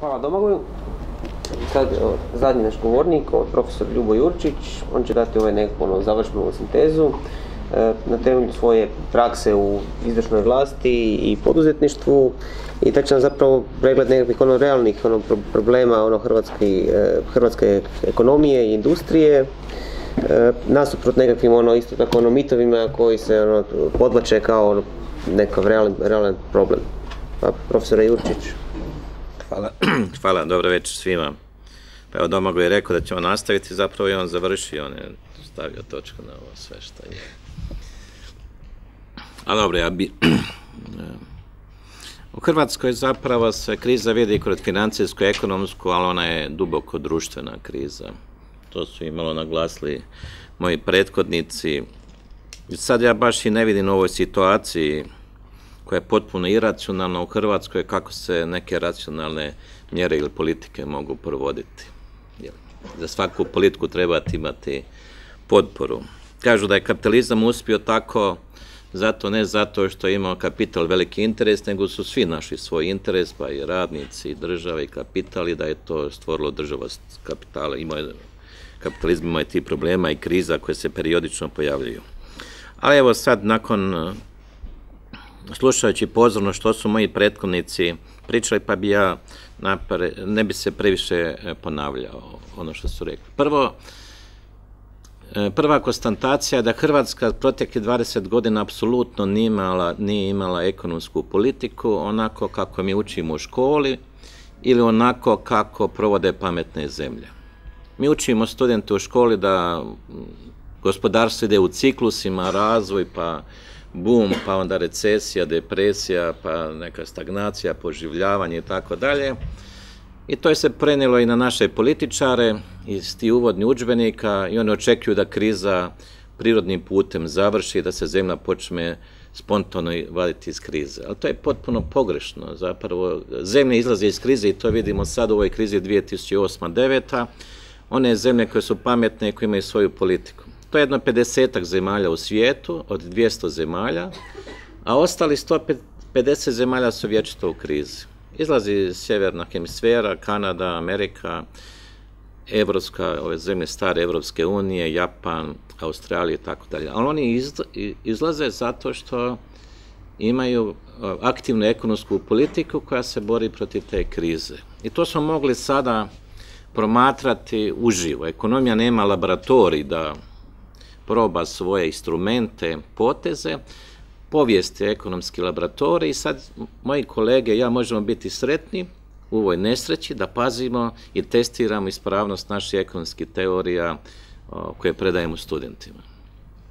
Hvala Domagoju. Sad zadnji naš govornik, profesor Ljubo Jurčić, on će dati neku završnu sintezu na temelju svoje prakse u izvršnoj vlasti i poduzetništvu i da će nam zapravo pregled nekakvih realnih problema hrvatske ekonomije i industrije nasuprot nekakvim isto tako mitovima koji se podvlače kao nekakav realan problem. Pa, profesore Jurčić. Hvala, dobro večer svima. Pa evo Domagoj je rekao da će on nastaviti, zapravo je on završio, on je stavio točku na ovo sve što je. A dobro, u Hrvatskoj zapravo se kriza vidi kroz financijsku, ekonomsku, ali ona je duboko društvena kriza. To su i malo naglasili moji prethodnici. I sad ja baš i ne vidim u ovoj situaciji koja je potpuno iracionalna u Hrvatskoj, kako se neke racionalne mjere ili politike mogu provoditi. Za svaku politiku treba imati potporu. Kažu da je kapitalizam uspio tako, ne zato što je imao kapital veliki interes, nego su svi našli svoj interes, pa i radnici, i država, i kapital, i da je to stvorilo državost kapitala. Kapitalizam ima i ti problema i kriza koje se periodično pojavljaju. Ali evo sad, nakon slušajući pozorno što su moji prethodnici pričali, pa bi ja ne bi se previše ponavljao ono što su rekli. Prva konstatacija je da Hrvatska proteklih 20 godina apsolutno nije imala ekonomsku politiku onako kako mi učimo u školi ili onako kako provode pametne zemlje. Mi učimo studente u školi da gospodarstvo ide u ciklusima, razvoj, pa boom, pa onda recesija, depresija, pa neka stagnacija, poživljavanje i tako dalje. I to je se prenijelo i na naše političare iz tih uvodnih udžbenika i oni očekuju da kriza prirodnim putem završi, da se zemlja počne spontano vaditi iz krize. Ali to je potpuno pogrešno. Zapravo, zemlje izlaze iz krize i to vidimo sad u ovoj krizi 2008-2009. One zemlje koje su pametne i koje imaju svoju politiku. To je jedno 50-ak zemalja u svijetu, od 200 zemalja, a ostali 150 zemalja su vječito u krizi. Izlazi sjeverna hemisfera, Kanada, Amerika, ove zemlje stare Evropske unije, Japan, Australija i tako dalje. Ali oni izlaze zato što imaju aktivnu ekonomsku politiku koja se bori protiv te krize. I to smo mogli sada promatrati uživo. Ekonomija nema laboratorij da proba svoje instrumente, poteze, povijest je ekonomski laboratorij i sad moji kolege i ja možemo biti sretni u ovoj nesreći da pazimo i testiramo ispravnost naših ekonomskih teorija koje predajemo studentima.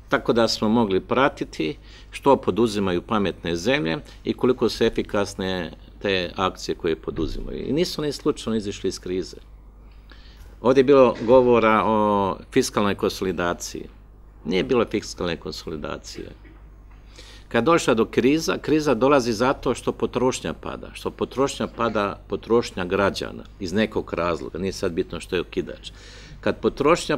Tako da smo mogli pratiti što poduzimaju pametne zemlje i koliko su efikasne te akcije koje poduzimaju. I nisu ni slučajno izišli iz krize. Ovdje je bilo govora o fiskalnoj konsolidaciji. Nije bilo fiskalne konsolidacije. Kad došla do kriza dolazi zato što potrošnja pada, potrošnja građana iz nekog razloga, nije sad bitno što je okidač. Kad potrošnja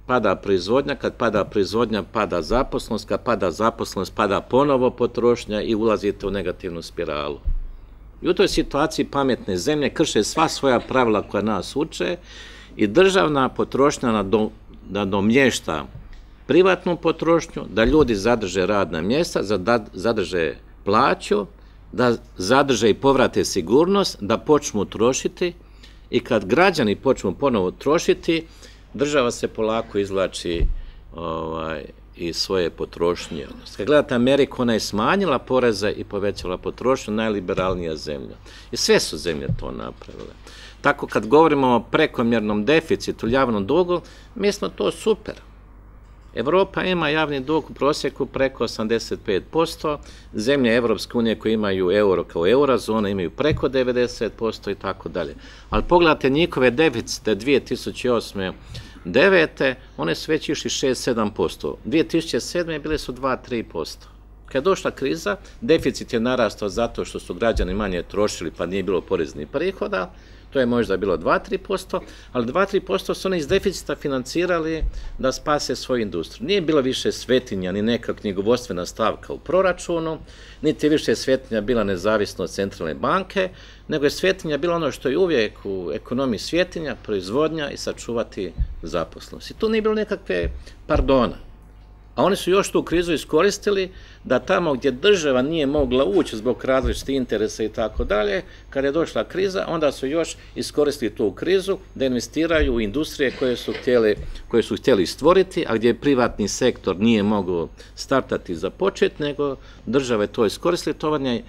pada proizvodnja, kad pada proizvodnja, pada zaposlenost, kad pada zaposlenost, pada ponovo potrošnja i ulazite u negativnu spiralu. I u toj situaciji pametne zemlje krše sva svoja pravila koja nas uče i državna potrošnja nadomješta privatnu potrošnju, da ljudi zadrže radna mjesta, zadrže plaću, da zadrže i povrate sigurnost, da počnu trošiti i kad građani počnu ponovo trošiti, država se polako izvlači iz svoje potrošnje. Kad gledate Ameriku, ona je smanjila poreze i povećala potrošnju, najliberalnija zemlja. I sve su zemlje to napravile. Tako kad govorimo o prekomjernom deficitu, javnom dugu, mi smo to super. Evropa ima javni dug u prosjeku preko 85%, zemlje Evropske unije koje imaju euro kao eurozona imaju preko 90% i tako dalje. Ali pogledajte njihove deficite 2008-2009, one su već išli 6-7%. 2007. bile su 2-3%. Kad je došla kriza, deficit je narastao zato što su građani manje trošili pa nije bilo poreznih prihoda, to je možda bilo 2-3%, ali 2-3% su oni iz deficita financirali da spase svoju industriju. Nije bilo više svetinja ni neka knjigovodstvena stavka u proračunu, niti je više svetinja bila nezavisno od centralne banke, nego je svetinja bila ono što je uvijek u ekonomiji svetinja, proizvodnja i sačuvati zaposlenost. I tu nije bilo nekakve pardona. A oni su još tu krizu iskoristili da tamo gdje država nije mogla ući zbog različitih interesa i tako dalje, kada je došla kriza, onda su još iskoristili tu krizu da investiraju u industrije koje su htjeli stvoriti, a gdje privatni sektor nije mogao startati i započeti, nego države to iskoristili. To vam je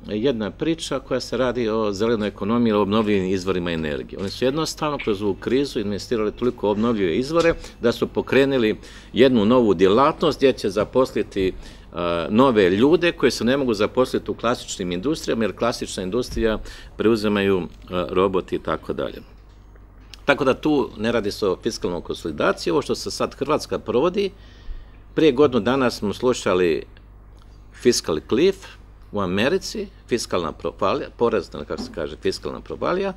jedna priča koja se radi o zelenoj ekonomiji ili obnovljivim izvorima energije. Oni su jednostavno kroz ovu krizu investirali toliko obnovljive izvore da su pokrenuli jednu novu djelatnost gdje će zaposliti nove ljude koji se ne mogu zaposliti u klasičnim industrijama, jer klasična industrija preuzimaju roboti i tako dalje. Tako da tu ne radi se o fiskalnoj konsolidaciji. Ovo što se sad Hrvatska provodi, prije godinu dana smo slušali fiscal cliff u Americi, fiskalna propalija, porezna, kako se kaže, fiskalna propalija,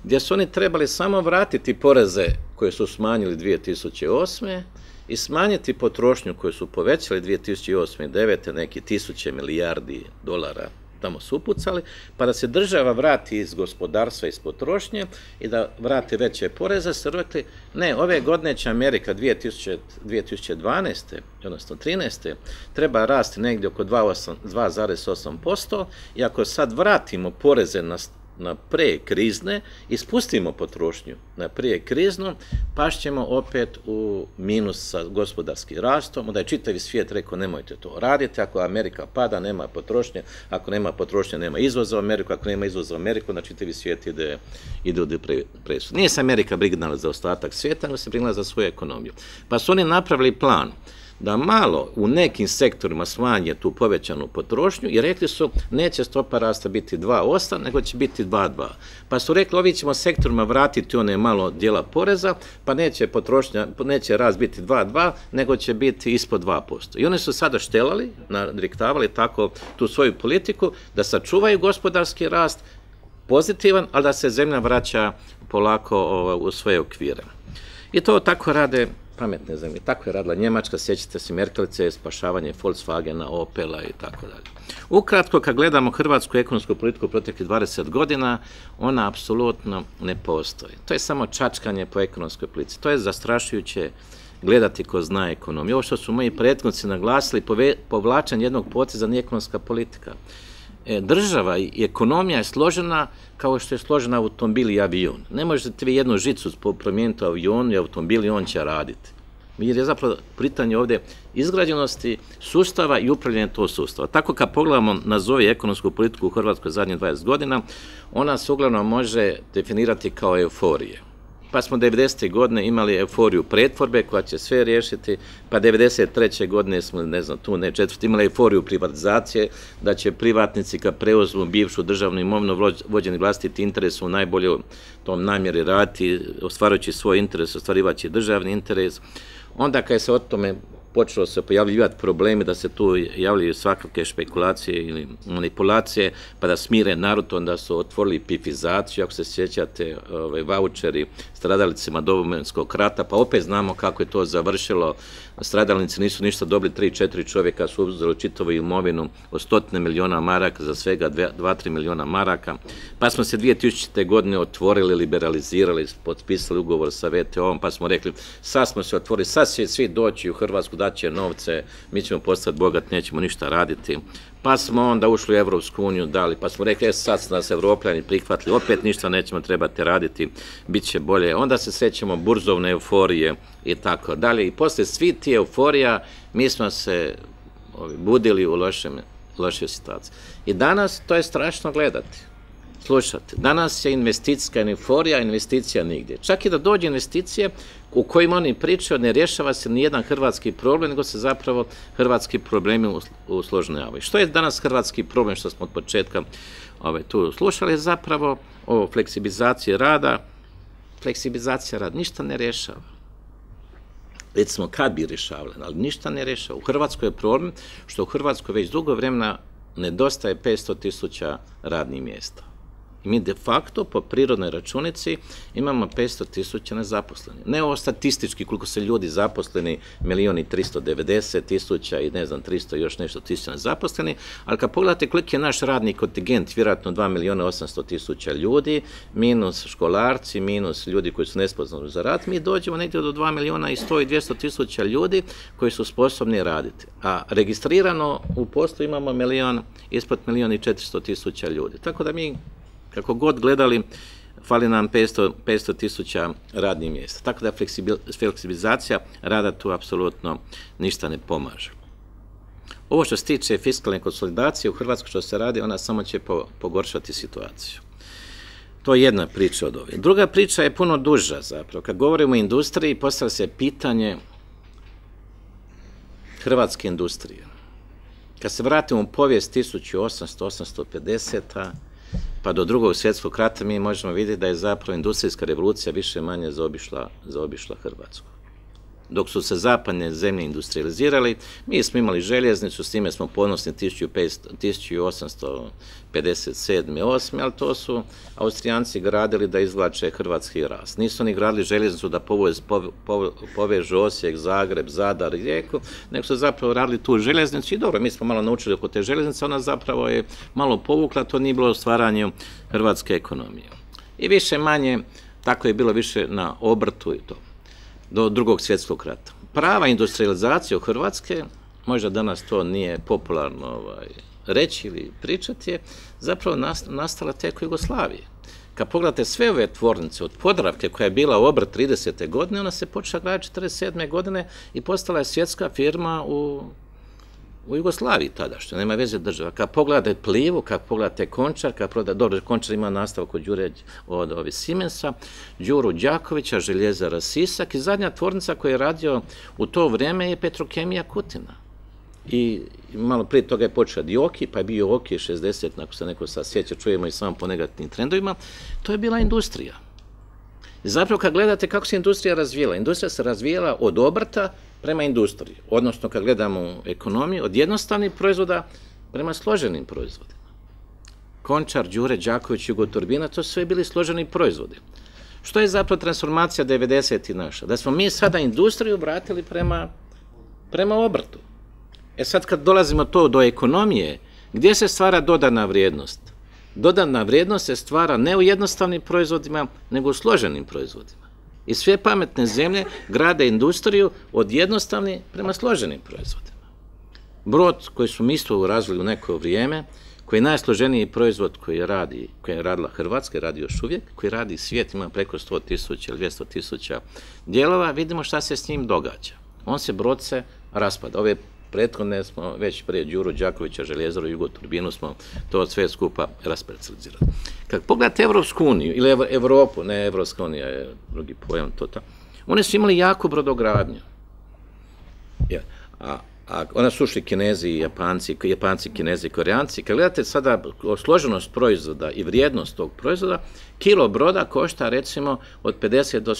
gdje su oni trebali samo vratiti poreze koje su smanjili 2008. i smanjiti potrošnju koju su povećali 2008. i 2009. neki 1000 milijardi dolara tamo su upucali, pa da se država vrati iz gospodarstva, iz potrošnje i da vrati veće poreze, su rekli, ne, ove godine će Amerika 2012. odnosno 2013. treba rasti negdje oko 2,8% i ako sad vratimo poreze na prekrizne i spustimo potrošnju na prekriznu, pašćemo opet u minus sa gospodarskim rastom, onda je čitavi svijet rekao nemojte to raditi, ako Amerika pada, nema potrošnje, ako nema potrošnje, nema izvoza u Ameriku, ako nema izvoza u Ameriku, onda čitavi svijet ide u depresiju. Nije se Amerika brignala za ostatak svijeta, nego se brignala za svoju ekonomiju. Pa su oni napravili plan da malo u nekim sektorima smanje tu povećanu potrošnju i rekli su neće stopa rasta biti 2,8 nego će biti 2,2. Pa su rekli ovi ćemo sektorima vratiti one malo dijela poreza pa neće rast biti 2,2 nego će biti ispod 2%. I oni su sada štelali, nadiktavali tako tu svoju politiku da sačuvaju gospodarski rast pozitivan, ali da se zemlja vraća polako u svoje okvire. I to tako rade pametne zemlje. Tako je radila Njemačka, sjećate se Merkelice, spašavanje Volkswagena, Opela i tako dalje. Ukratko, kad gledamo hrvatsku ekonomsku politiku proteklih 20 godina, ona apsolutno ne postoji. To je samo čačkanje po ekonomskoj politici. To je zastrašujuće gledati ko zna ekonomiju. Ovo što su moji prethodnici naglasili, povlačenje jednog poteza nije ekonomska politika. Država i ekonomija je složena kao što je složena automobil i avion. Ne možete vi jednu žicu promijeniti u avionu i automobil i on će raditi. Jer je zapravo pitanje ovdje izgrađenosti sustava i upravljanja tog sustava. Tako kad pogledamo nazovi ekonomsku politiku u Hrvatskoj zadnjih 20 godina, ona se uglavnom može definirati kao euforije. Pa smo 90. godine imali euforiju pretvorbe koja će sve riješiti, pa 93. godine smo, imali euforiju privatizacije, da će privatnici kad preuzmu bivšu državnu imovinu vođeni vlastiti interes u najbolju tom namjeri raditi, ostvarujući svoj interes, ostvarivajući državni interes. Onda kad se o tome počelo se pojavljivati problemi da se tu javljaju svakakve špekulacije ili manipulacije, pa da smire narod, onda su otvorili pifizaciju, ako se sjećate, vaučeri stradalnicima Domovinskog rata, pa opet znamo kako je to završilo. Stradalnici nisu ništa dobili, 3-4 čovjeka su uzeli čitavu imovinu od 100 miliona maraka za svega 2-3 miliona maraka. Pa smo se 2000. godine otvorili, liberalizirali, potpisali ugovor sa WTO-om, pa smo rekli, sad smo se otvorili, sad će svi doći u Hrvatsku, daće novce, mi ćemo postati bogati, nećemo ništa raditi. Pa smo onda ušli u Evropsku uniju, dali, pa smo rekli, sad su nas Evropljani prihvatili, opet ništa nećemo trebati raditi, bit će bolje. Onda se srećemo burzovne euforije i tako dalje. I poslije svi ti euforija, mi smo se budili u lošoj situaciji. I danas to je strašno gledati, slušati. Danas je investicijska euforija, investicija nigdje. Čak i da dođe investicije u kojima oni pričaju, ne rješava se nijedan hrvatski problem, nego se zapravo hrvatski problemi usložnjavaju. Što je danas hrvatski problem, što smo od početka tu slušali, zapravo o fleksibilizaciji rada. Fleksibilizacija rada ništa ne rješava. recimo kad bi rješavali, ali ništa ne rješava. U Hrvatskoj je problem što u Hrvatskoj već dugo vremena nedostaje 500.000 radnih mjesta. I mi de facto po prirodnoj računici imamo 500.000 nezaposlenih. Ne ovo statistički koliko se ljudi zaposleni, 1.390.000 i ne znam 300 još nešto tisuća nezaposleni, ali kad pogledate koliki je naš radni kontingent, vjerojatno 2.800.000 ljudi, minus školarci, minus ljudi koji su nesposobni za rad, mi dođemo negdje do 2.100.000 i 200.000 ljudi koji su sposobni raditi. A registrirano u poslu imamo ispod 1.400.000 ljudi. Tako da mi, kako god gledali, fali nam 500.000 radnih mjesta. Tako da fleksibilizacija rada tu apsolutno ništa ne pomaže. Ovo što se tiče fiskalne konsolidacije u Hrvatskoj što se radi, ona samo će pogoršati situaciju. To je jedna priča od ove. Druga priča je puno duža zapravo. Kad govorimo o industriji, postavlja se pitanje hrvatske industrije. Kad se vratimo u povijest 1800-850 pa do Drugog svjetskog rata mi možemo vidjeti da je zapravo industrijska revolucija više manje zaobišla Hrvatsku. Dok su se zapadne zemlje industrializirali, mi smo imali željeznicu, s time smo ponosni 1857. 8. ali to su Austrijanci gradili da izvlače hrvatski rast. Nisu oni gradili željeznicu da povežu Osijek, Zagreb, Zadar i Rijeku, nego su zapravo radili tu željeznicu i dobro, mi smo malo naučili oko te željeznice, ona zapravo je malo povukla, to nije bilo u stvaranju hrvatske ekonomije. I više manje, tako je bilo više na obrtu i to. Do Drugog svjetskog rata. Prava industrializacija u Hrvatske, možda danas to nije popularno reći ili pričati, je zapravo nastala tek u Jugoslaviji. Kad pogledate sve ove tvornice, od Podravke koja je bila u obrt 30. godine, ona se počela graditi 47. godine i postala je svjetska firma u Jugoslaviji tada, što nema veze država. Kad pogledate Plivu, kad pogledate Končar, dobro, Končar ima nastavak od Siemensa, Đuru Đakovića, Željezara Sisak i zadnja tvornica koju je radio u to vrijeme je Petrokemija Kutina. I malo prije toga je počeo Dioki, pa je bio Oki 60, ako se neko sad sjeća, čujemo i samo po negativnim trendovima, to je bila industrija. I zapravo kad gledate kako se industrija se razvijala od obrta prema industriji, odnosno kad gledamo ekonomiju, od jednostavnih proizvoda prema složenim proizvodima. Končar, Đure Đaković, Jugoturbina, to su sve bili složeni proizvodi. Što je zapravo transformacija 90. naša? Da smo mi sada industriju vratili prema obrtu. E sad kad dolazimo to do ekonomije, gdje se stvara dodana vrijednost? Dodana vrijednost se stvara ne u jednostavnim proizvodima, nego u složenim proizvodima. I sve pametne zemlje grade industriju od jednostavnih prema složenim proizvodima. Brod koji su mi isto razvili u neko vrijeme, koji je najsloženiji proizvod koji je radila Hrvatska, radi još uvijek, koji radi svijet, ima preko 100.000 ili 200.000 dijelova, vidimo šta se s njim događa. Brod se raspada. Ove prethodne smo već prije Đuru Đakovića, Željezaru, Jugoturbinu smo to sve skupa rasparcelizirali. Kad pogledate Evropsku uniju ili Evropu, ne Evropska unija je drugi pojam, oni su imali jaku brodogradnju. A onda su ušli Kinezi i Japanci, Kinezi i Koreanci. Kad gledate sada složenost proizvoda i vrijednost tog proizvoda, kilo broda košta recimo od 50 do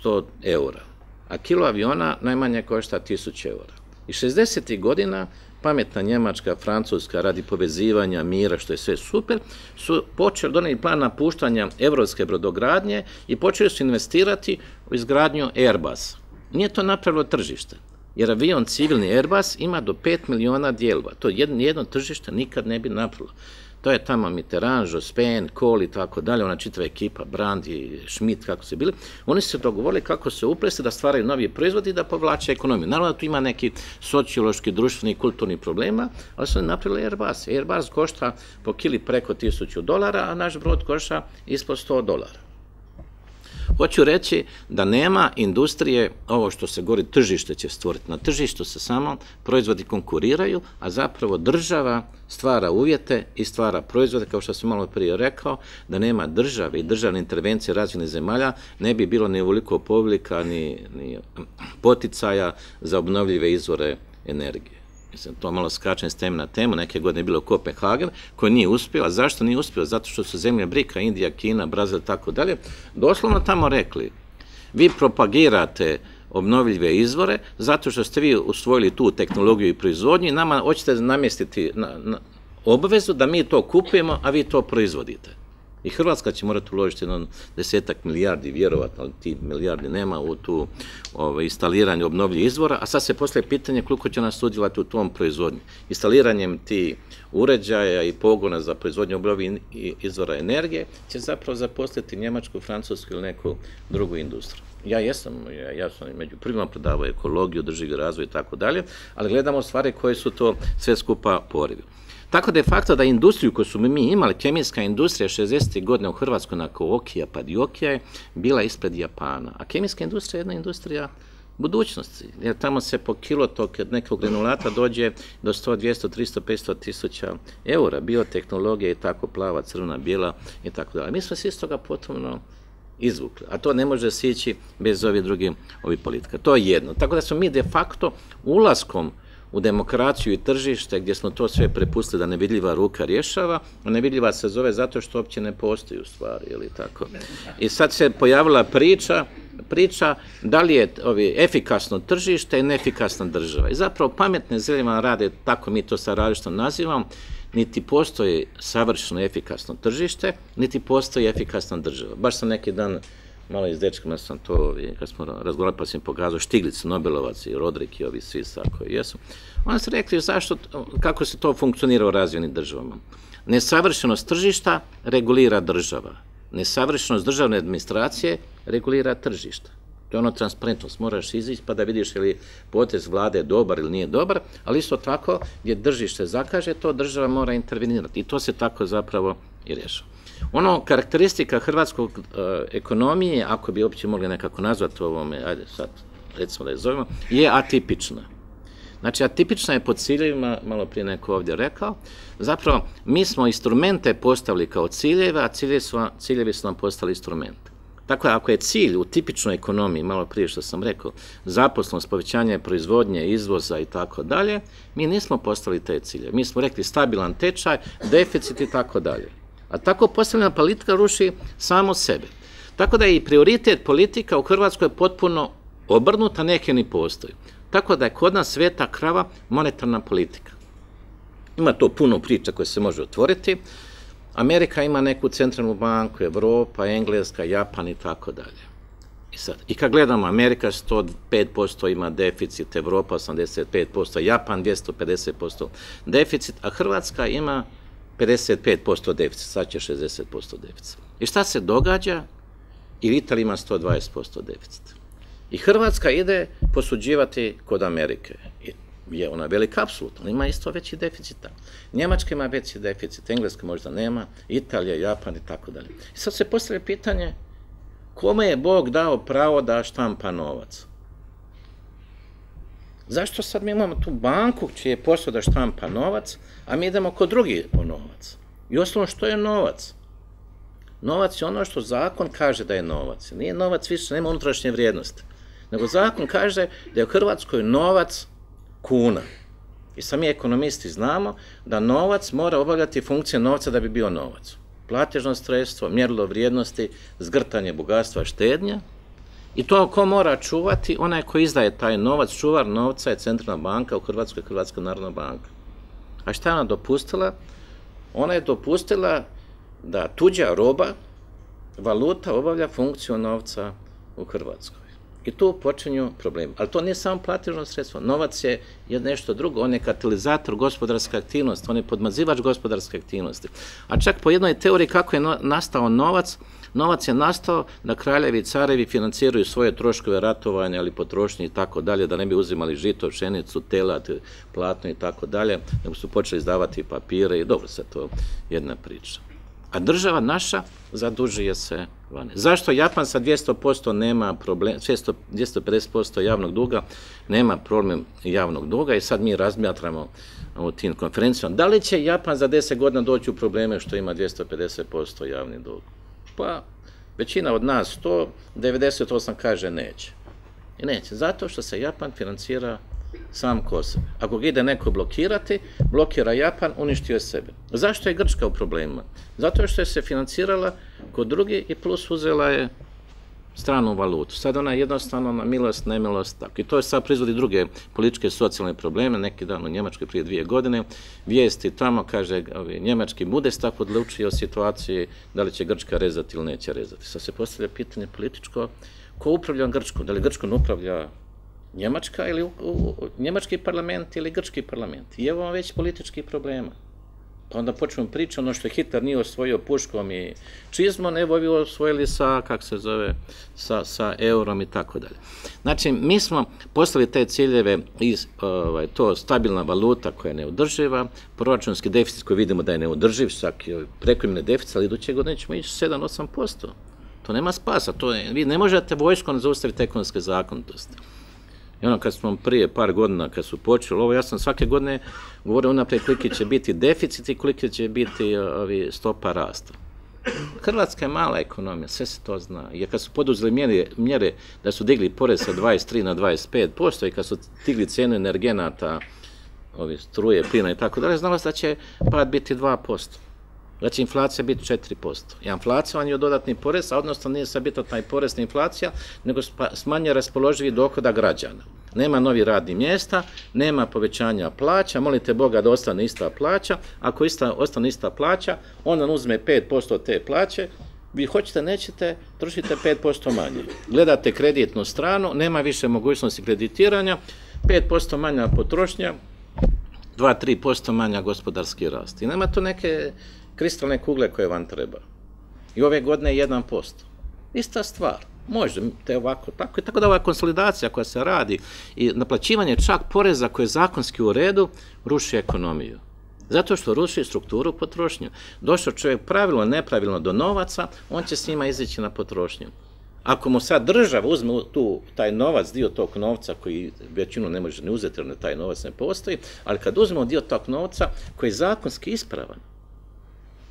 100 eura, a kilo aviona najmanje košta 1000 eura. I 60. godina pametna Njemačka, Francuska, radi povezivanja, mira, što je sve super, su počeli donijeti plan napuštanja evropske brodogradnje i počeli su investirati u izgradnju Airbus. Nije to napravilo tržište, jer avion civilni Airbus ima do 5 miliona dijelova. To jedno tržište nikad ne bi napravilo. To je tamo Mitterrand, Jospin, Kohl i tako dalje, ona čitava ekipa, Brand i Schmidt, kako su bili. Oni su se dogovorili kako se uplesti da stvaraju novi proizvodi i da povlače ekonomiju. Naravno da tu ima neki sociološki, društveni i kulturni problema, ali su oni napravili Airbus. Airbus košta po kili preko $1000, a naš brod košta ispod $100. Hoću reći da nema industrije, ovo što se govori, tržište će stvoriti. Na tržištu se samo proizvodi konkuriraju, a zapravo država stvara uvjete i stvara proizvode, kao što sam malo prije rekao, da nema države i državne intervencije razvijenih zemalja, ne bi bilo ni ovoliko povlika, ni poticaja za obnovljive izvore energije. Mislim, to malo skačem s teme na temu, neke godine je bilo Kopenhagen, koji nije uspio, a zašto nije uspio? Zato što su zemlje BRICA, Indija, Kina, Brazil, tako dalje, doslovno tamo rekli, vi propagirate obnovljive izvore, zato što ste vi usvojili tu tehnologiju i proizvodnju i nama hoćete namjestiti obavezu da mi to kupujemo, a vi to proizvodite. I Hrvatska će morati uložiti 10 milijardi, vjerovatno, ali ti milijardi nema u tu instaliranje obnovljivih izvora, a sad se postavlja pitanje koliko će nas sudjelovati u tom proizvodnji. Instaliranjem ti uređaja i pogona za proizvodnju obnovljivih izvora energije će zapravo zaposliti Njemačku, Francusku ili neku drugu industriju. Ja sam među prvima predavao ekologiju, održivi razvoj i tako dalje, ali gledamo stvari koje su to sve skupa porivi. Tako de facto da industriju koju su mi imali, kemijska industrija 60. godina u Hrvatskoj nakon Okija pa Diokija je bila ispred Japana. A kemijska industrija je jedna industrija budućnosti, jer tamo se po kilo tog nekog granulata dođe do 100, 200, 300, 500 tisuća eura, biotehnologija i tako plava, crvena, bijela i tako dalje. Mi smo se iz toga potpuno izvukli, a to ne može se ići bez ovih drugih politika. To je jedno. Tako da smo mi de facto ulaskom u demokraciju i tržište, gdje smo to sve prepustili da nevidljiva ruka rješava, a nevidljiva se zove zato što uopće ne postoji u stvari, ili tako. I sad se pojavila priča da li je efikasno tržište i neefikasna država. I zapravo pametne zemlje rade, tako mi to sad različito nazivamo, niti postoji savršeno efikasno tržište, niti postoji efikasna država. Baš sam neki dan malo iz dečkama sam to, kad smo razgovarali pa sam im pokazao Štiglicu, Nobelovac i Rodrik i ovi svi koji jesu. Oni su rekli kako se to funkcionira u razvijenim državama. Nesavršenost tržišta regulira država. Nesavršenost državne administracije regulira tržište. To je ono transparentnost, moraš izići pa da vidiš je li potez vlade dobar ili nije dobar, ali isto tako gdje tržište zakaže, to država mora intervenirati i to se tako zapravo i rješava. Ono karakteristika hrvatskog ekonomije, ako bi uopće mogli nekako nazvati ovome, ajde sad recimo da je zovemo, je atipična. Znači atipična je po ciljevima, malo prije neko ovdje rekao, zapravo mi smo instrumente postavili kao ciljeve, a ciljevi su nam postali instrumente. Tako ako je cilj u tipičnoj ekonomiji, malo prije što sam rekao, zaposlenost, povećanje proizvodnje, izvoza i tako dalje, mi nismo postavili te ciljeve. Mi smo rekli stabilan tečaj, deficit i tako dalje. A tako postavljena politika ruši samo sebe. Tako da je i prioritet politika u Hrvatskoj potpuno obrnuta, neke ni postoji. Tako da je kod nas sveta krava monetarna politika. Ima to puno priča koje se može otvoriti. Amerika ima neku centralnu banku, Evropa, Engleska, Japan i tako dalje. I kad gledamo, Amerika 105% ima deficit, Evropa 85%, Japan 250% deficit, a Hrvatska ima 55% deficit, sad će 60% deficit. I šta se događa? I Italija ima 120% deficit. I Hrvatska ide posuđivati kod Amerike. Je ona velika apsolutno, ali ima isto veći deficit. Njemačka ima veći deficit, Engleska možda nema, Italija, Japan i tako dalje. I sad se postavlja pitanje, kome je Bog dao pravo da štampa novac? Zašto sad mi imamo tu banku čiji je posao da štampa novac, a mi idemo kod drugih po novac? I osnovno, što je novac? Novac je ono što zakon kaže da je novac. Nije novac više, nema unutrašnje vrijednosti. Nego zakon kaže da je u Hrvatskoj novac kuna. I sami ekonomisti znamo da novac mora obavljati funkcije novca da bi bio novac. Platežno sredstvo, mjerilo vrijednosti, zgrtanje bogatstva, štednja. I to ko mora čuvati, onaj ko izdaje taj novac, čuvar novca je Centralna banka u Hrvatskoj, Hrvatska narodna banka. A šta je ona dopustila? Ona je dopustila da tuđa roba, valuta obavlja funkciju novca u Hrvatskoj. I tu počinju problemi. Ali to nije samo platežno sredstvo. Novac je nešto drugo. On je katalizator gospodarske aktivnosti. On je podmazivač gospodarske aktivnosti. A čak po jednoj teoriji kako je nastao novac, novac je nastao da kraljevi i carevi financiraju svoje troškove ratovanja ili potrošnje i tako dalje, da ne bi uzimali žito, pšenicu, telat, platno i tako dalje, nego su počeli izdavati papire i dobro se to jedna priča. A država naša zadužuje se vani. Zašto Japan sa 200% nema problem, 250% javnog duga, nema problem javnog duga i sad mi razmatramo u tim konferencijama. Da li će Japan za 10 godina doći u probleme što ima 250% javni dug? Pa većina od nas to, 98 kaže neće. I neće, zato što se Japan financira sam ko sebe. Ako ga ide neko blokirati, blokira Japan, uništio je sebe. Zašto je Grčka u problemima? Zato što je se financirala kod drugi i plus uzela je stranu valutu. Sad ona jednostavno na milost, nemilost, tako. I to je sad proizvodi druge političke, socijalne probleme. Neki dan u Njemačkoj prije 2 godine vijesti tamo, kaže, njemački Bundestag odlučio o situaciji da li će Grčka rezati ili neće rezati. Sad se postavlja pitanje političko, ko upravlja Grčkom? Da li Grčkom upravlja Njemačka ili njemački parlament ili grčki parlament? I evo vam već političkih problema. Pa onda počnemo pričati, ono što je Hitler nije osvojio puškom i čizmom, evo vi osvojili sa, kak se zove, sa eurom i tako dalje. Znači, mi smo postavili te ciljeve, to stabilna valuta koja je neodrživa, proračunski deficit koji vidimo da je neodrživ, čak je prekomjerni deficit, ali iduće godine ćemo ići 7-8%. To nema spasa, vi ne možete vojskom zaustaviti ekonomske zakonitosti. I ono kad smo prije par godina, kad su počeli ovo, ja sam svake godine govorio unaprijed koliki će biti deficit i koliki će biti stopa rasta. Hrvatska je mala ekonomija, sve se to zna. Jer kad su poduzeli mjere da su digli porez sa 23 na 25% i kad su digli cijenu energenata, struje, plina i tako dalje, znalo se da će pad biti 2%. Da će inflacija biti 4%. I inflacija on je dodatni porez, a odnosno nije sad bitno taj porez ni inflacija, nego smanje raspoloživi dohodak građana. Nema novih radnih mjesta, nema povećanja plaća, molite Boga da ostane ista plaća, ako ostane ista plaća, on nam uzme 5% te plaće, vi hoćete, nećete, trošite 5% manje. Gledate kreditnu stranu, nema više mogućnosti kreditiranja, 5% manja potrošnja, 2-3% manja gospodarski rast. I nema tu neke kristalne kugle koje vam treba. I ove godine 1%. Ista stvar. Može, te ovako, tako da ova konsolidacija koja se radi i naplaćivanje čak poreza koje je zakonski u redu, ruši ekonomiju. Zato što ruši strukturu potrošnje. Došao čovjek pravilno, nepravilno do novaca, on će s njima izići na potrošnju. Ako mu sad država uzme taj novac, dio tog novca koji većinu ne može ni uzeti jer taj novac ne postoji, ali kad uzmemo dio tog novca koji je zakonski ispravan,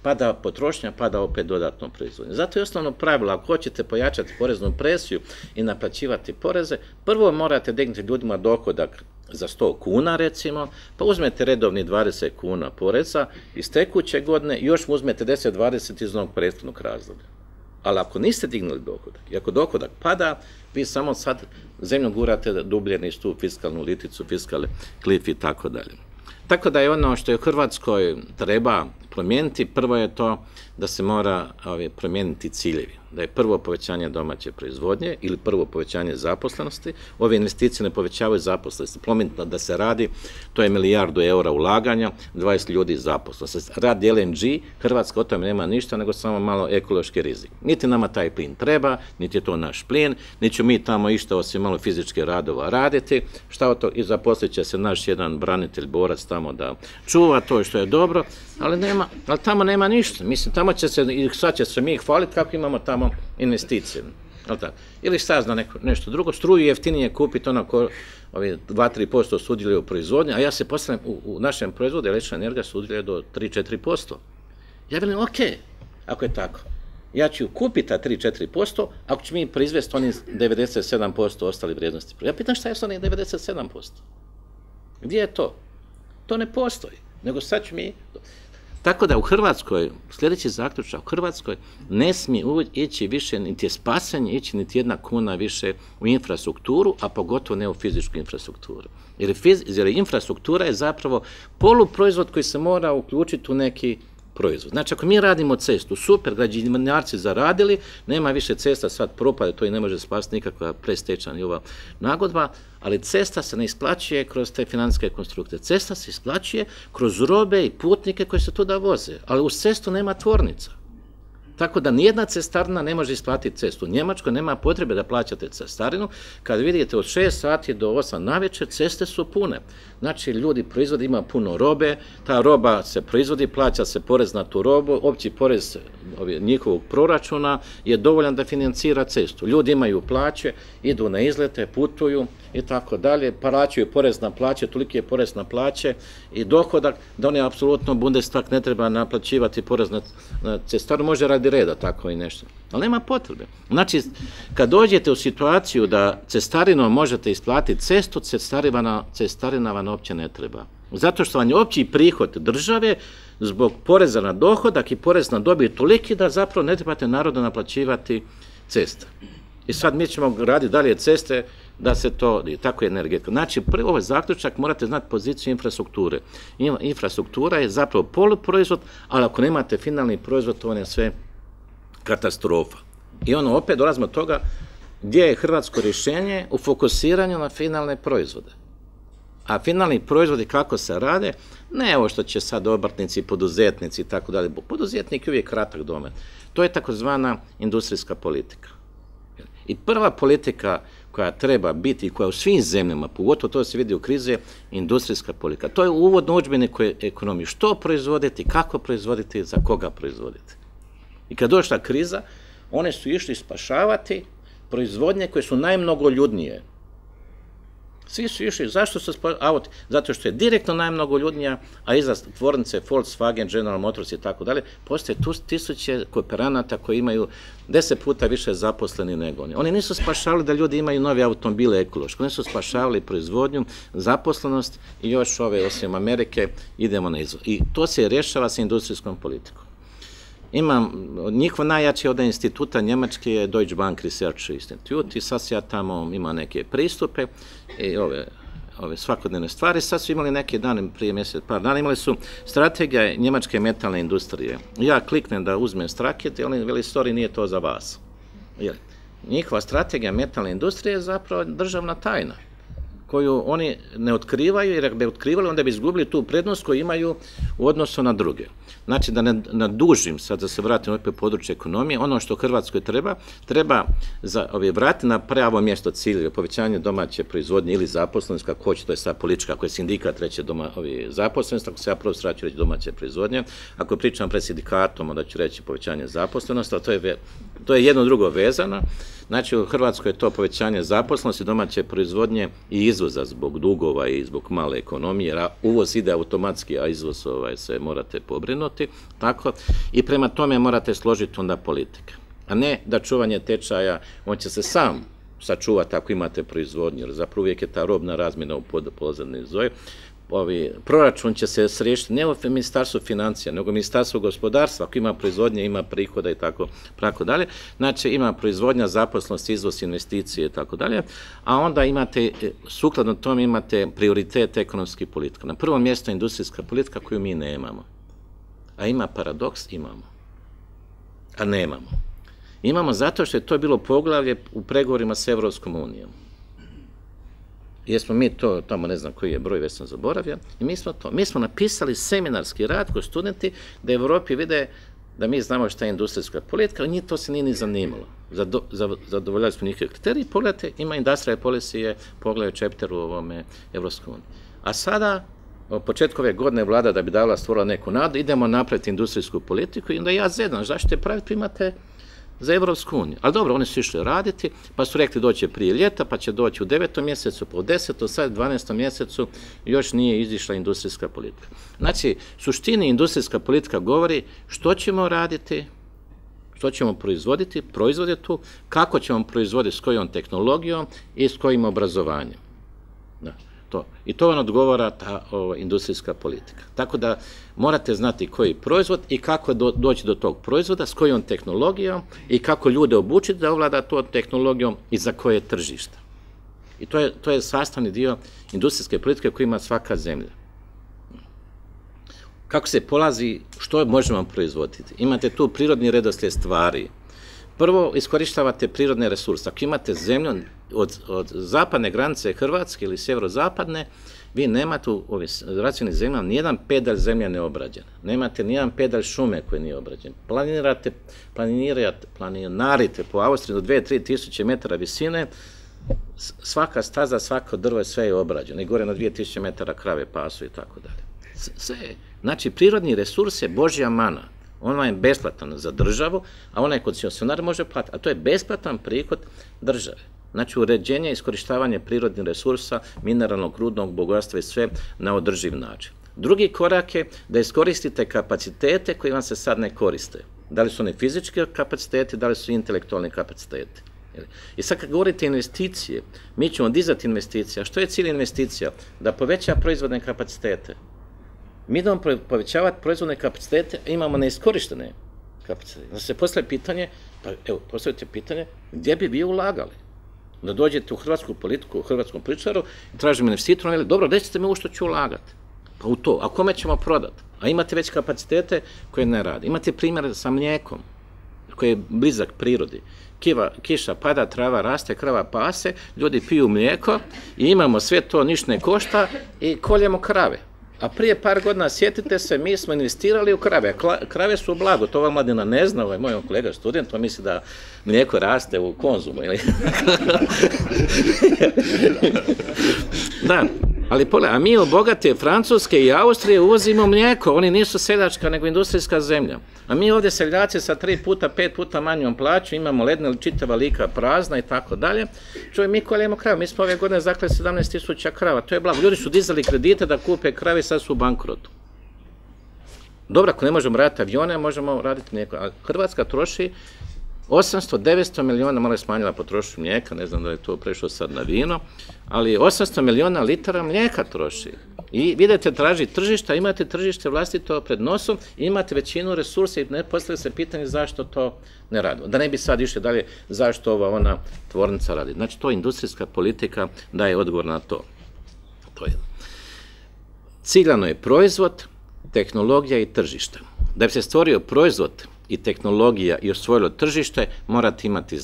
pada potrošnja, pada opet dodatno proizvodnje. Zato je osnovno pravilo, ako hoćete pojačati poreznu presiju i naplaćivati poreze, prvo morate dignuti ljudima dohodak za 100 kuna recimo, pa uzmete redovni 20 kuna poreza iz tekuće godine i još mu uzmete 10-20 iz onog prethodnog razloga. Ali ako niste dignuli dohodak i ako dohodak pada, vi samo sad zemlju gurate dublje niz tu fiskalnu liticu, fiskalne klif i tako dalje. Tako da je ono što je u Hrvatskoj treba promijeniti, prvo je to da se mora promijeniti ciljevi. Da je prvo povećanje domaće proizvodnje ili prvo povećanje zaposlenosti. Ove investicije ne povećavaju zaposlenosti. Promijeniti da se radi, to je 1 milijardu eura ulaganja, 20 ljudi zaposlenosti. Radi LNG, Hrvatska o tome nema ništa, nego samo malo ekološki rizik. Niti nama taj plin treba, niti je to naš plin, niti ću mi tamo išta osim malo fizičkih radova raditi. Šta od to? I zaposlit će se naš jedan branitelj, borac tamo da čuva to što je dobro, ali tamo nema ništa. Mislim, tamo će se, i sad će se mi hvaliti kako imamo tamo investicije. Ili šta zna nešto drugo, struju jeftinije kupiti onako 2-3% sudjeluje u proizvodnji, a ja se postavljam u našem proizvodu električna energija sudjeluje do 3-4%. Ja velim, ok, ako je tako, ja ću kupiti ta 3-4%, ako ću mi proizvesti onih 97% ostali vrijednosti. Ja pitam šta je s onih 97%? Gdje je to? To ne postoji, nego sad ću mi... Tako da u Hrvatskoj, sljedeći zaključak, u Hrvatskoj ne smije ići više, niti je spasanje, ići niti 1 kuna više u infrastrukturu, a pogotovo ne u fizičku infrastrukturu. Jer infrastruktura je zapravo poluproizvod koji se mora uključiti u neki proizvod. Znači, ako mi radimo cestu, super, građevinarci zaradili, nema više cesta, sad propade, to i ne može spasiti nikakva predstečajna ova nagodba, ali cesta se ne isplaćuje kroz te financijske konstrukte. Cesta se isplaćuje kroz robe i putnike koji se tuda voze, ali uz cestu nema tvornica. Tako da nijedna cestarina ne može isplatiti cestu. U Njemačkoj nema potrebe da plaćate cestarinu. Kad vidite od 6 sati do 8 navečer, ceste su pune. Znači, ljudi proizvode, ima puno robe, ta roba se proizvodi, plaća se porez na tu robu, opći porez njihovog proračuna je dovoljan da financira cestu. Ljudi imaju plaće, idu na izlete, putuju i tako dalje, plaćaju porez na plaće, toliki je porez na plaće i dohodak, da oni apsolutno Bundestag ne treba naplaćivati porez na cestarinu, može radi reda, tako i nešto. Ali nema potrebe. Znači, kad dođete u situaciju da cestarinom možete isplatiti cestu, cestarina vam uopće ne treba. Zato što vam je opći prihod države zbog poreza na dohodak i porez na dobit toliki da zapravo ne trebate narodu naplaćivati cesta. I sad mi ćemo raditi dalje ceste da se to, tako je energetika. Znači, prvo ovaj zaključak morate znati poziciju infrastrukture. Infrastruktura je zapravo poluproizvod, ali ako nemate finalni proizvod, to je sve katastrofa. I ono opet dolazimo od toga gdje je hrvatsko rješenje u fokusiranju na finalne proizvode. A finalni proizvodi kako se rade, ne ovo što će sad obrtnici, poduzetnici i tako dalje. Poduzetnik je uvijek kratak domen. To je takozvana industrijska politika. I prva politika koja treba biti, koja u svim zemljama, pogotovo to se vidi u krizi, je industrijska politika. To je uvodno u udžbeniku ekonomije. Što proizvoditi, kako proizvoditi, za koga proizvoditi. I kad došla kriza, one su išli spašavati proizvodnje koje su najmnogoljudnije. Svi su išli, zašto su spašavati? Zato što je direktno najmnogoljudnija, a iza tvornice Volkswagen, General Motors i tako dalje, postoje tisuće kooperanata koji imaju 10 puta više zaposleni nego oni. Oni nisu spašavali da ljudi imaju nove automobile ekološke, oni su spašavali proizvodnju, zaposlenost i još osim Amerike, idemo na izvoz. I to se rješava sa industrijskom politikom. Njihov najjači od instituta njemački je Deutsche Bank Research Institute i sad ja tamo ima neke pristupe i ove svakodnevne stvari. Sad su imali neke dane, prije par dana, imali su strategija njemačke metalne industrije. Ja kliknem da uzmem straket i oni veli, sorry, nije to za vas. Njihova strategija metalne industrije je zapravo državna tajna, koju oni ne otkrivaju, jer ako bi otkrivali, onda bi izgubili tu prednost koju imaju u odnosu na druge. Znači, da ne nadužim, sad da se vratim opet u područje ekonomije, ono što Hrvatskoj treba vratiti na pravo mjesto cilja, povećanje domaće proizvodnje ili zaposlenosti, kako hoće, to je sad politička, ako je sindikat reći zaposlenost, ako se ja prvo ću reći domaće proizvodnje, ako pričam pred sindikatom, onda ću reći povećanje zaposlenosti, ali to je jedno drugo vezano. Znači, u Hrvatskoj je to povećanje zaposlenosti, domaće proizvodnje i izvoza zbog dugova i zbog male ekonomije, jer uvoz ide automatski, a izvoz se morate pobrinuti, tako, i prema tome morate složiti onda politike. A ne da čuvanje tečaja, on će se sam sačuvati ako imate proizvodnju, jer zapravo uvijek je ta robna razmjena u pozadini zove. Proračun će se riješiti ne u ministarstvu financija, nego u ministarstvu gospodarstva, ako ima proizvodnje, ima prihoda i tako dalje. Znači, ima proizvodnja, zaposlenost, izvoz, investicije i tako dalje, a onda imate, sukladno tome imate prioritet ekonomskih politika. Na prvom mjestu industrijska politika koju mi nemamo. A ima paradoks, imamo. A nemamo. Imamo zato što je to bilo poglavlje u pregovorima s Evropskom unijom. Jer smo mi to, tamo ne znam koji je broj, već sam zaboravio, i mi smo napisali seminarski rad kao studenti da Evropi vide da mi znamo šta je industrijska politika, ali njih to se nije ni zanimalo. Zadovoljali smo njihove kriterije, pogledajte, ima industrial policy, pogledaj chapter u ovome Evropskom uniji. A sada, od početka ove godine vlada da bi stvorila neku nadu, idemo napraviti industrijsku politiku i onda ja zedam, zašto je praviti, imate za Evropsku uniju. Ali dobro, oni su išli raditi, pa su rekli doći prije ljeta, pa će doći u 9. mjesecu, pa u 10. sad u 12. mjesecu još nije izišla industrijska politika. Znači, suštini industrijska politika govori što ćemo raditi, što ćemo proizvoditi, proizvode tu, kako ćemo proizvoditi, s kojom tehnologijom i s kojim obrazovanjem. I to vam odgovara ta industrijska politika. Tako da morate znati koji proizvod i kako doći do tog proizvoda, s kojom tehnologijom i kako ljude obučiti da ovlada tom tehnologijom i za koje tržište. I to je sastavni dio industrijske politike koju ima svaka zemlja. Kako se polazi, što možemo proizvoditi? Imate tu prirodni redoslijed stvari. Prvo, iskorištavate prirodne resurse. Ako imate zemlju od zapadne granice Hrvatske ili sjeverozapadne, vi nemate u ovim racionalnim zemljama nijedan pedalj zemlje neobrađen. Nemate nijedan pedalj šume koji nije obrađen. Planinarite po Austriji do 2-3 tisuće metara visine, svaka staza, svako drvo, sve je obrađeno. I gore na 2000 metara krave pasu i tako dalje. Znači, prirodni resurs je Božja mana. On je besplatan za državu, a onaj koncesionar može platiti. A to je besplatan prihod države. Znači, uređenje i iskorištavanje prirodnih resursa, mineralnog, rudnog bogatstva i sve na održiv način. Drugi korak je da iskoristite kapacitete koji vam se sad ne koriste. Da li su oni fizički kapaciteti, da li su intelektualni kapaciteti. I sad kad govorite investicije, mi ćemo dizati investicije. A što je cilj investicija? Da poveća proizvodne kapacitete. Mi idemo povećavati proizvodne kapacitete, imamo neiskorištene kapacitete. Da se postavlja pitanje, Pa evo, postavite pitanje, gdje bi vi ulagali? Da dođete u hrvatsku politiku, u hrvatskom političaru, tražimo investitora, ili dobro, recite mi u što ću ulagati. Pa u to, a kome ćemo prodati? A imate već kapacitete koje ne rade. Imate primjer sa mlijekom, koji je blizak prirodi. Kiša pada, trava raste, krava pase, ljudi piju mlijeko i imamo sve to, ništa ne košta i koljemo krave. A prije par godina, sjetite se, mi smo investirali u krave. Krave su u blago, to ova mladina ne zna, ovaj moj kolega student, on misli da mlijeko raste u Konzumu. Da, ali pogledaj, a mi od bogate Francuske i Austrije uvozimo mlijeko, oni nisu seljačka nego industrijska zemlja. A mi ovdje seljaci sa 3 puta, 5 puta manjom plaću, imamo ledne ili čitava lika prazna i tako dalje. Čovjek, mi koljemo krave, mi smo ove godine zakle 17.000 krava, to je blago. Ljudi su dizali kredite da kupe krave, sad su u bankrotu. Dobro, ako ne možemo raditi avione, možemo raditi mlijeko. A Hrvatska troši 800-900 milijuna, malo je smanjila potrošnju mlijeka, ne znam da je to prešlo sad na vino, ali 800 milijuna litara mlijeka troši. I vidite, traži tržišta, imate tržište vlastito pred nosom, imate većinu resursa i ne postavlja se pitanje zašto to ne radimo. Da ne bi sad išli dalje zašto ona tvornica radi. Znači, to industrijska politika daje odgovor na to. To je. Ciljano je proizvod, tehnologija i tržište. Da bi se stvorio proizvod i tehnologija i osvojilo tržište, morate imati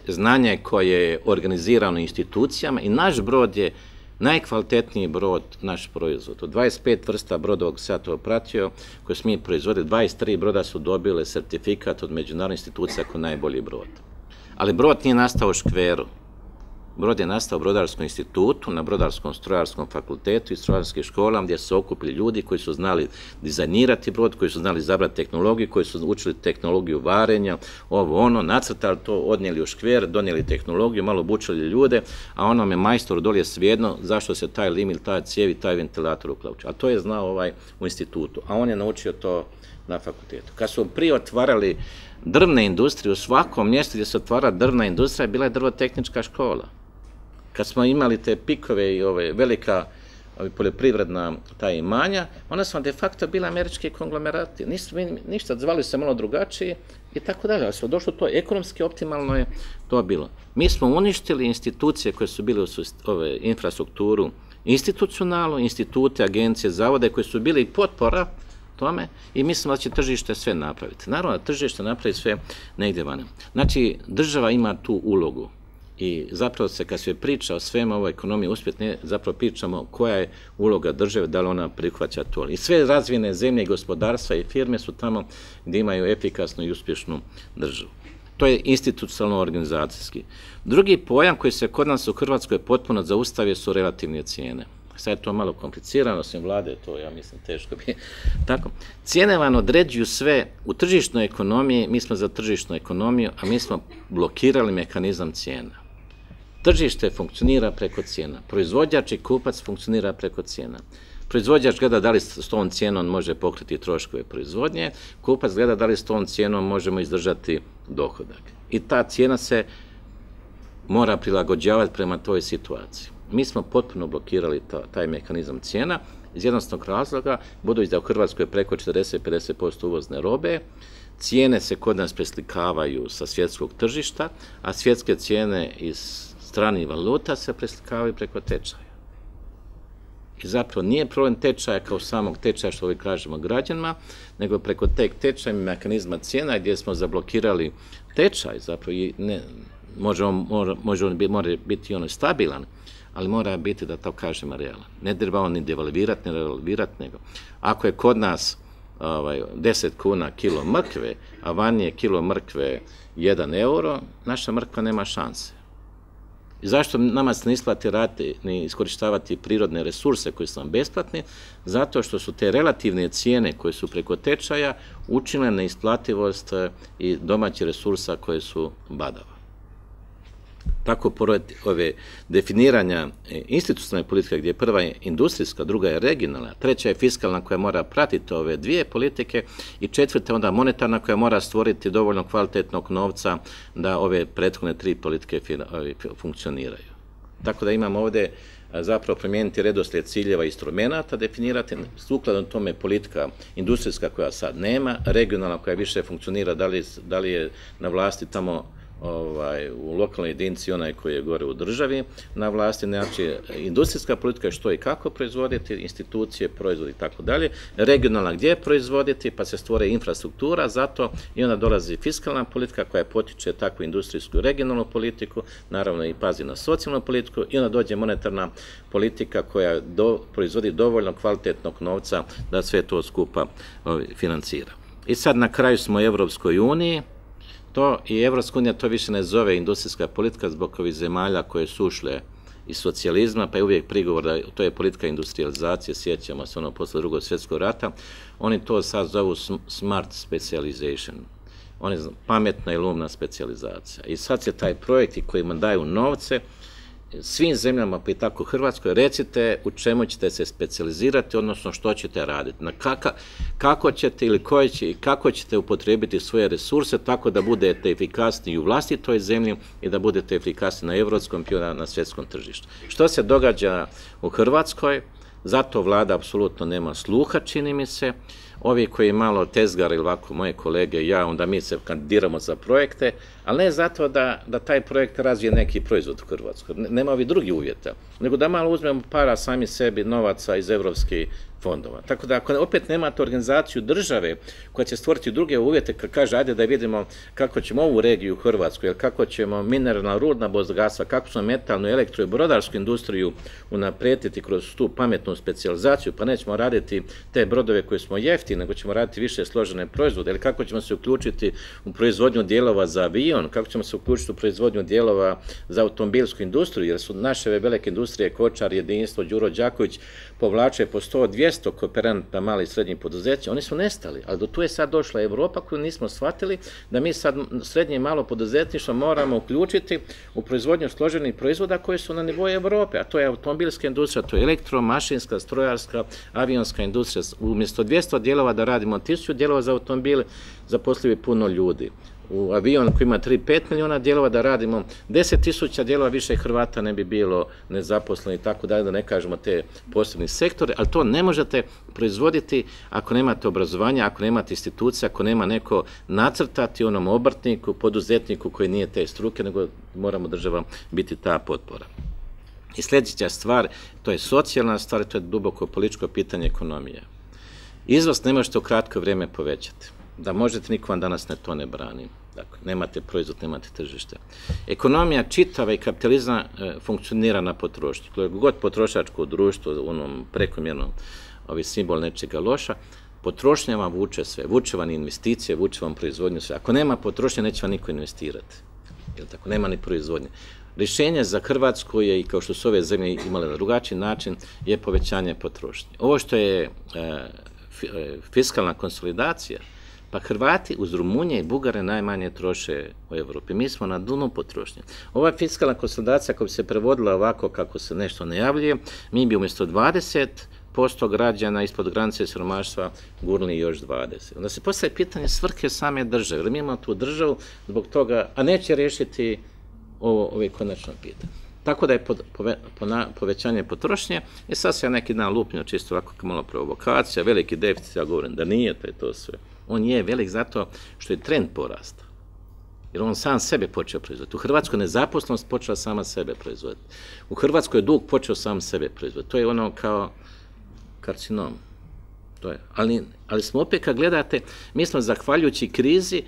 znanje koje je organizirano institucijama i naš brod je najkvalitetniji brod, naš proizvod. Od 25 vrsta brodova koje sam ja to pratio, koje smo mi proizvodili, 23 broda su dobile sertifikat od međunarodnih institucija kao najbolji brod. Ali brod nije nastao u škveru. Brod je nastao u Brodarskom institutu, na Brodarskom strojarskom fakultetu i strojarskim školama gdje su okupili ljudi koji su znali dizajnirati brod, koji su znali izabrati tehnologiju, koji su učili tehnologiju varenja, nacrtali to, odnijeli u škver, donijeli tehnologiju, malo obučili ljude, a onome majstoru dolje svejedno zašto se taj limit, taj cijev i taj ventilator uključio. A to je znao u institutu, a on je naučio to na fakultetu. Kad su prije otvarali drvne industrije, u svakom mjestu gdje se otvara drvna industrija bila je drvotehnička škola. Kad smo imali te pikove i velika poljoprivredna ta imanja, ona su de facto bila američki konglomerati. Nisu ništa, zvali se malo drugačije i tako dalje. Ali smo došli to, ekonomski optimalno je to bilo. Mi smo uništili institucije koje su bile u infrastrukturu institucionalnu, institute, agencije, zavode koje su bili potpora tome i mislimo da će tržište sve napraviti. Naravno da tržište napravi sve negdje vani. Znači, država ima tu ulogu. I zapravo se kad se priča o svema ovoj ekonomiji uspjetne, zapravo pričamo koja je uloga države, da li ona prihvaća to. I sve razvijene zemlje, gospodarstva i firme su tamo gdje imaju efikasnu i uspješnu državu. To je institucionalno organizacijski. Drugi pojam koji se kod nas u Hrvatskoj potpuno zaustavio su relativne cijene. Sad je to malo komplicirano, osim vlade, to ja mislim teško bi. Tako, cijene vam određuju sve u tržišnoj ekonomiji, mi smo za tržišnu ekonomiju, a mi smo blokirali mehanizam cijena. Tržište funkcionira preko cijena. Proizvođač i kupac funkcionira preko cijena. Proizvođač gleda da li s tom cijenom može pokriti troškove proizvodnje, kupac gleda da li s tom cijenom možemo izdržati dohodak. I ta cijena se mora prilagođavati prema toj situaciji. Mi smo potpuno blokirali taj mehanizam cijena iz jednostavnog razloga, budući da u Hrvatskoj je preko 40-50% uvozne robe, cijene se kod nas preslikavaju sa svjetskog tržišta, a svjetske cijene iz stranih valuta se preslikavaju preko tečaja. I zapravo nije problem tečaja kao samog tečaja što uvijek kažemo građanima, nego preko tek tečaja mehanizma cijena gdje smo zablokirali tečaj, zapravo mora biti ono stabilan, ali mora biti, da to kažemo, realan. Ne treba on ni devalvirati, ni revalvirati, nego ako je kod nas 10 kuna kilo mrkve, a vani je kilo mrkve 1 euro, naša mrkva nema šanse. I zašto nama se ne isplati raditi ni iskorištavati prirodne resurse koji su nam besplatni? Zato što su te relativne cijene koje su preko tečaja učinile neisplativost i domaćih resursa koje su badava. Tako pored ove definiranja institucionalne politike gdje je prva je industrijska, druga je regionalna, treća je fiskalna koja mora pratiti ove dvije politike i četvrta onda monetarna koja mora stvoriti dovoljno kvalitetnog novca da ove prethodne 3 politike funkcioniraju. Tako da imamo ovdje zapravo promijeniti redoslijed ciljeva i instrumenata, definirati sukladno tome politika industrijska koja sad nema, regionalna koja više funkcionira, da li je na vlasti tamo u lokalnoj jedinici onaj koji je gore u državi na vlasti, znači industrijska politika što i kako proizvoditi, institucije, proizvodi i tako dalje, regionalna gdje proizvoditi, pa se stvore infrastruktura za to i onda dolazi fiskalna politika koja potiče takvu industrijsku i regionalnu politiku, naravno i pazi na socijalnu politiku i onda dođe monetarna politika koja proizvodi dovoljno kvalitetnog novca da sve to skupa financira. I sad na kraju smo u Evropskoj uniji, i Evropska unija to više ne zove industrijska politika zbog ovih zemalja koje su ušle iz socijalizma, pa je uvijek prigovor da to je politika industrializacije, sjećamo se posle Drugog svjetskog rata, oni to sad zovu smart specialization, pametna i lumna specijalizacija. I sad se taj projekti kojima daju novce, svim zemljama, pa i tako Hrvatskoj, recite u čemu ćete se specijalizirati, odnosno što ćete raditi, kako ćete ili kako ćete upotrijebiti svoje resurse tako da budete efikasniji u vlastitoj zemlji i da budete efikasniji na evropskom i na svjetskom tržištu. Što se događa u Hrvatskoj? Zato vlada apsolutno nema sluha, čini mi se. Ovi koji malo tezgare ili ovako moje kolege i ja, onda mi se kandidiramo za projekte, ali ne zato da taj projekt razvije neki proizvod u Hrvatskoj. Nema ovih drugih uvjeta, nego da malo uzmemo para sami sebi novaca iz evropskih fondova. Tako da ako opet nemate organizaciju države koja će stvoriti druge uvjete, kad kaže ajde da vidimo kako ćemo ovu regiju u Hrvatskoj, ili kako ćemo mineralna rudna bogatstva, kako ćemo metalnu, elektro i brodarsku industriju unaprijediti kroz tu pametnu specijalizaciju, pa nećemo raditi te brodove koje smo jeftini, nego ćemo raditi više složene proizvode, ili kako ćemo se uključiti u proizvodnju dijelova za avion, kako ćemo se uključiti u proizvodnju dijelova za automobilsku industriju, jer su naše velike industrije, Kočar, Jedinstvo, Đuro Đaković, povlače po 100-200 kooperanata malih i srednjih poduzeća, oni su nestali, ali do tu je sad došla Evropa koju nismo shvatili, da mi sad srednje i malo poduzetništvo moramo uključiti u proizvodnju složenih proizvoda koji su na nivou Evrope, a to je automobilska industrija, to je elektromašinska, strojarska, avionska industrija. Umjesto 200 dijelova da radimo 1000 dijelova za automobile, zaposlili puno ljudi. U avion koji ima 3-5 miliona dijelova da radimo 10.000 dijelova, više Hrvata ne bi bilo nezaposleni i tako dalje, da ne kažemo te posebni sektore, ali to ne možete proizvoditi ako nemate obrazovanja, ako nemate institucije, ako nema neko nacrtati onom obrtniku, poduzetniku koji nije te struke, nego moramo država biti ta potpora. I sljedeća stvar, to je socijalna stvar, to je duboko političko pitanje ekonomije. Izvoz ne možete u kratko vrijeme povećati. Da možete, niko vam danas to ne brani. Dakle, nemate proizvod, nemate tržište. Ekonomija čitava i kapitalizam funkcionira na potrošnji. Koje god potrošačko društvo, onom prekomjernom simbol nečega loša, potrošnja vam vuče sve. Vuče vam investicije, vuče vam proizvodnju sve. Ako nema potrošnje, neće vam niko investirati. Jer tako, nema ni proizvodnje. Rješenje za Hrvatsku je, i kao što su ove zemlje imale na drugačiji način, je povećanje potrošnje. Ovo što je fiskalna konsolidacija, pa Hrvati uz Rumunje i Bugare najmanje troše u Evropi. Mi smo na dnu potrošnje. Ova fiskalna konsolidacija, ako bi se prevodila ovako kako se nešto najavljuje, mi bi umjesto 20% građana ispod granice siromaštva gurnuli još 20%. Onda se postavlja pitanje svrhe same države, jer mi imamo tu državu zbog toga, a neće riješiti ovo konačno pitanje. Tako da je povećanje potrošnje, i sad se ja neki dan lupnio čisto ovako malo provokacija, veliki deficit, ja govorim da nije, to je to sve. On je velik zato što je trend porasta. Jer on sam sebe počeo proizvoditi. U Hrvatskoj nezaposlenost počela sama sebe proizvoditi. U Hrvatskoj je dug počeo sam sebe proizvoditi. To je ono kao karcinom. To je. Ali smo opet, kad gledate, mi smo zahvaljujući krizi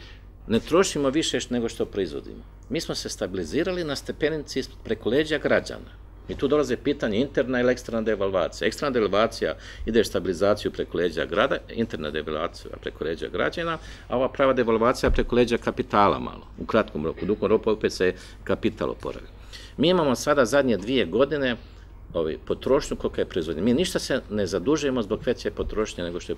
ne trošimo više nego što proizvodimo. Mi smo se stabilizirali na stepenici preko leđa građana. I tu dolaze pitanje interna ili eksterna devalvacija. Eksterna devalvacija ide stabilizaciju preko leđa grada, interna devalvacija preko leđa građana, a ova prava devalvacija preko leđa kapitala malo. U kratkom roku, u dugom roku opet se kapital oporavlja. Mi imamo sada zadnje 2 godine potrošnju koliko je proizvodnja. Mi ništa se ne zadužujemo zbog veće potrošnje nego što je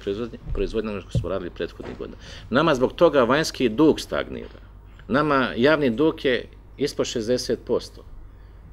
proizvodnja nego što smo radili prethodnih godina. Nama zbog toga vanjski dug stagnira. Nama javni dug je ispod 60%.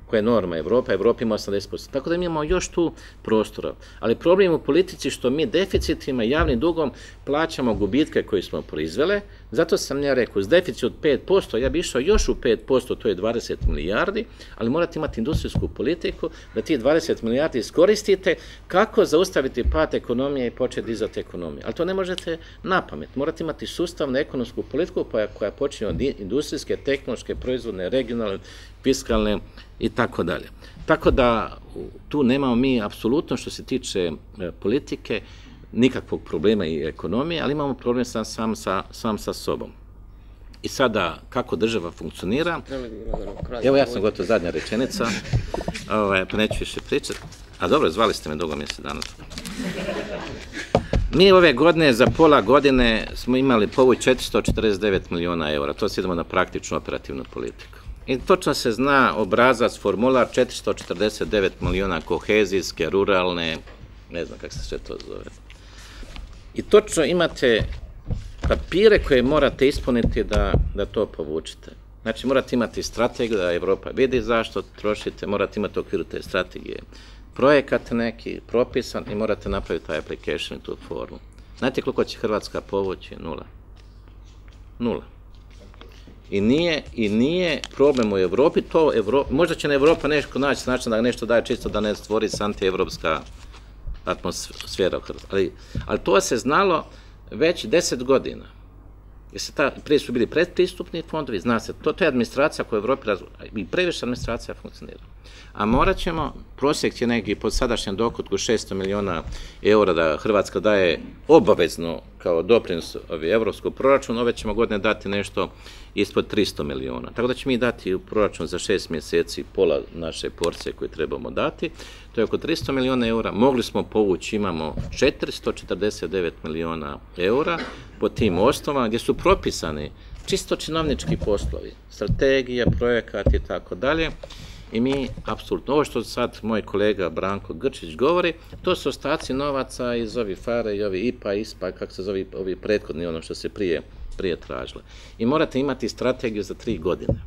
Koja je norma Evropa ima 80%. Tako da mi imamo još tu prostora. Ali problem u politici što mi deficitima i javnim dugom plaćamo gubitke koje smo proizvele, Zato sam ja rekao, s deficit od 5%, ja bi išao još u 5%, to je 20 milijardi, ali morate imati industrijsku politiku da ti 20 milijardi iskoristite kako zaustaviti pad ekonomije i početi dizati ekonomiju. Ali to ne možete napamet. Morate imati sustavnu ekonomsku politiku koja počinje od industrijske, tehnološke, proizvodne, regionalne, fiskalne i tako dalje. Tako da tu nemamo mi apsolutno što se tiče politike nikakvog problema i ekonomije, ali imamo problem sam sa sobom. I sada, kako država funkcionira, evo ja sam gotovo zadnja rečenica, pa neću više pričati, a dobro, zvali ste me, dugo mi se danas. Mi ove godine, za pola godine, smo imali povući 449 miliona eura, to se idemo na praktičnu operativnu politiku. I točno se zna obrazac, formular, 449 miliona kohezijske, ruralne, ne znam kako se sve to zove. I točno imate papire koje morate ispuniti da to povučete. Znači, morate imati strategiju da Evropa vidi zašto trošite, morate imati u okviru te strategije projekat neki, propisan i morate napraviti taj application i tu formu. Znate koliko će Hrvatska povući? 0. 0. I nije problem u Evropi, možda će na Evropa nešto naći način da nešto daje čisto da ne stvori anti-evropska atmosfera u Hrvatskoj. Ali to se znalo već 10 godina. Prije su bili predpristupni fondovi, zna se, to je administracija koja u Evropi i previše administracija funkcionira. A morat ćemo, prosjek je neki pod sadašnjem dohotku 600 miliona eura da Hrvatska daje obavezno kao doprinos evropskog proračuna, ove ćemo godine dati nešto ispod 300 miliona. Tako da ćemo mi dati u proračun za 6 mjeseci pola naše porcije koje trebamo dati. To je oko 300 miliona eura. Mogli smo povući, imamo 449 miliona eura po tim osnovama gdje su propisani čisto činovnički poslovi, strategija, projekat i tako dalje. I mi, apsolutno, ovo što sad moj kolega Branko Grčić govori, to su ostaci novaca iz ovih FARE i ovih IPA, ISPA, kako se zove ovi prethodni, ono što se prije tražilo. I morate imati strategiju za 3 godine.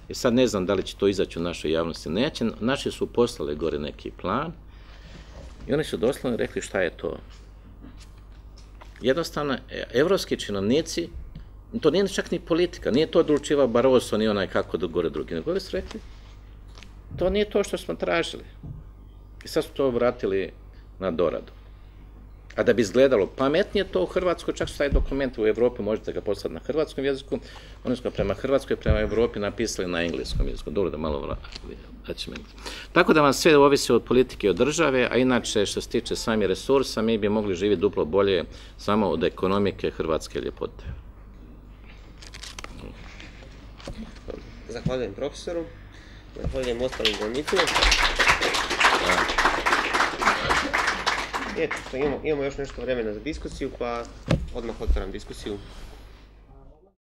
I sad ne znam da li će to izaći u našoj javnosti, neće. Naši su poslali gore neki plan i oni su doslovno rekli šta je to. Jednostavno, evropski činovnici, to nije čak ni politika, nije to odlučivao Barroso, ni onaj kako do gore drugi, nego su rekli, to nije to što smo tražili. I sad su to vratili na doradu. A da bi izgledalo pametnije to u Hrvatskoj, čak su taj dokument u Evropi, možete ga poslati na hrvatskom jeziku, oni su prema Hrvatskoj, prema Evropi napisali na engleskom jeziku. Dobro da malo Tako da vam sve ovisi od politike i od države, a inače što se tiče sami resursa, mi bi mogli živjeti duplo bolje samo od ekonomike hrvatske ljepote. Zahvaljujem profesoru. Zahvaljujem ostalim govornicima. Eto, imamo još nešto vremena za diskusiju, pa odmah otvaram diskusiju.